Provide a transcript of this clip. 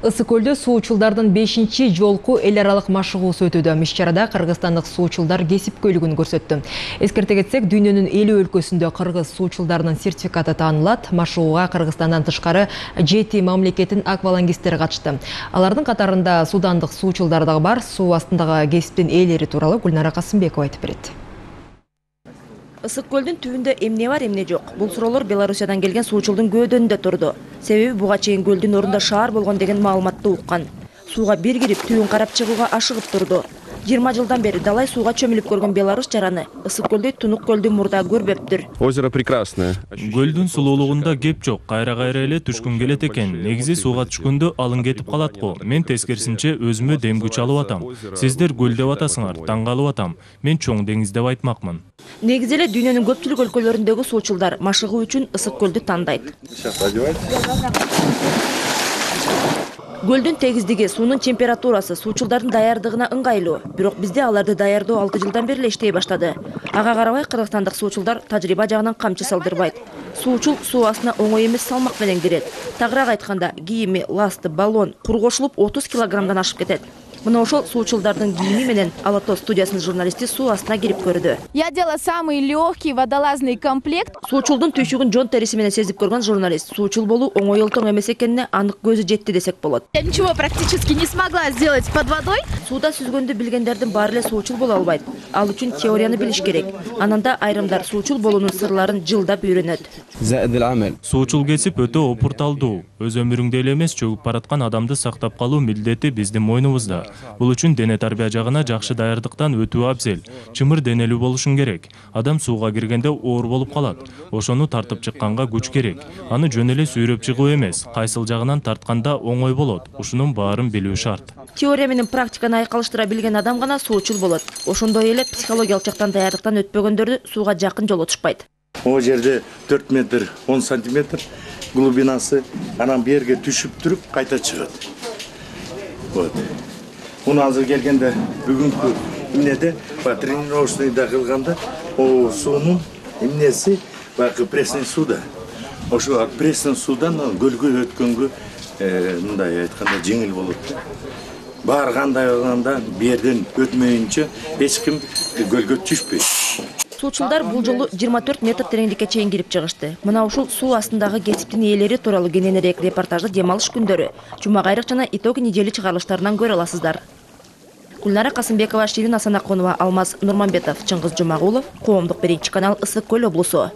Ысык көлдө суучулдардын 5-чи жолку эл аралык машыгуусу өтүүдө. Иш-чарада кыргызстандык суучулдар кесипкөйлүгүн көрсөттү. Эскерте кетсек, дүйнөнүн 50 өлкөсүндө кыргыз суучулдарынын сертификаты таанылат. Машыгууга Кыргызстандан тышкары 7 мамлекеттин аквалангисттери катышты. Алардын катарында судандык суучулдар дагы бар. Суу астындагы кесиптин ээлери тууралуу Гүлнара Касымбекова айтып берет. Ысык көлдүн түбүндө эмне бар, эмне жок? Бул суроолор Беларусиядан келген суучулдун көөдөнүндө турду. Себеби буга чейин көлдүн ордунда шаар болгон деген маалыматты уккан. Сууга бир кирип, түбүн карап чыгууга ашыгып турду. 20 жылдан бери далай сууга чөмүлүп көргөн Беларусь жараны Ысык көлдөй тунук көлдү мурда көрбөптүр. Озеро прекрасное. Көлдүн сулуулугунда кеп жок, кайра эле түшкүн келет экен. Негизи сууга түшкөндө алың кетип калат го. Мен тескерисинче өзүмө дем күч алып атам. Сиздер көл деп атасыңар, таң калып атам. Мен чоң деңиз деп айтмакмын. Негизи эле дүйнөнүн көпчүлүк өлкөлөрүндөгү суучулдар машыгуу үчүн Ысык көлдү тандайт. Көлдүн тегиздиги, суунун температурасы суучулдардын даярдыгына ыңгайлуу. Бирок бизде аларды даярдоо 6 жылдан бери эле иштей баштады. Ага карабай кыргызстандык суучулдар тажрыйба жагынан камчы салдырбайт. Суучул суу астына оңой эмес салмак менен кирет. Тагыраак айтканда, кийими, ласты, баллон кур кошулуп 30 килограммдан ашып кетет. Мына ошол суучулдардын кийими менен Ала Тоз студиясынын журналисти суу астына кирип көрдү. Я делала самый легкий водолазный комплект. Суучулдун түйшүгүн жон териси менен сезип көргөн журналист суучул болуу оңой олтоң эмес экенине анык көзү жетти десек болот. Я ничего практически не смогла сделать под водой. Сууда сүзгөндү билгендердин баары эле суучул боло албайт. Ал үчүн теорияны билиш керек. Анан да айрымдар суучул болуунун сырларын жылдап үйрөнөт. Суучул кесип өтө опурталдуу. Өз өмүрүңдө эле эмес, чөгүп бараткан адамды сактап калуу милдети биздин мойнубузда. Бул үчүн дене тарбия жагына жакшы даярдыктан өтүү абзел. Чымыр денелүү болушуң керек. Адам сууга киргенде оор болуп калат. Ошону тартып чыкканга күч керек. Аны жөн эле сүйрөп чыгуу эмес, кайсыл жагынан тартканда оңой болот. Ушунун баарын билүү шарт. Теория менен практиканы айкалыштыра билген адам гана суучул болот. Ошондой эле психологиялык жактан даярдыктан өтпөгөндөрдү сууга жакын жолотушпайт. О жерде 4 метр 10 сантиметр глубинасы, анан берге түшүп туруп кайта чыгат. Вот. Муну азыр келгенде бүгүнкү эмнеде тренировочныйда кылганда суунун эмнеси баягы пресный сууда. Ошо пресный суудан көлгө өткөнгө мындай айтканда жеңил болот. Баргандай болгондо берден өтмөйүнчө эч ким көлгө түшпөйт. Суучулдар бул жолу 24 метр тереңдикке чейин кирип чыгышты. Мына ушул суу астындагы кесиптин ээлери тууралуу кененирээк репортажды дем алыш күндөрү Жума кайрык жана итоги неделе чыгарылыштарынан көрө аласыздар. Гүлнара Касымбекова, Ширин Асанакунова, Алмаз Нурманбетов, Чыңгыз Жумагулов, Коомдук биринчи канал, Ысык көл облусу.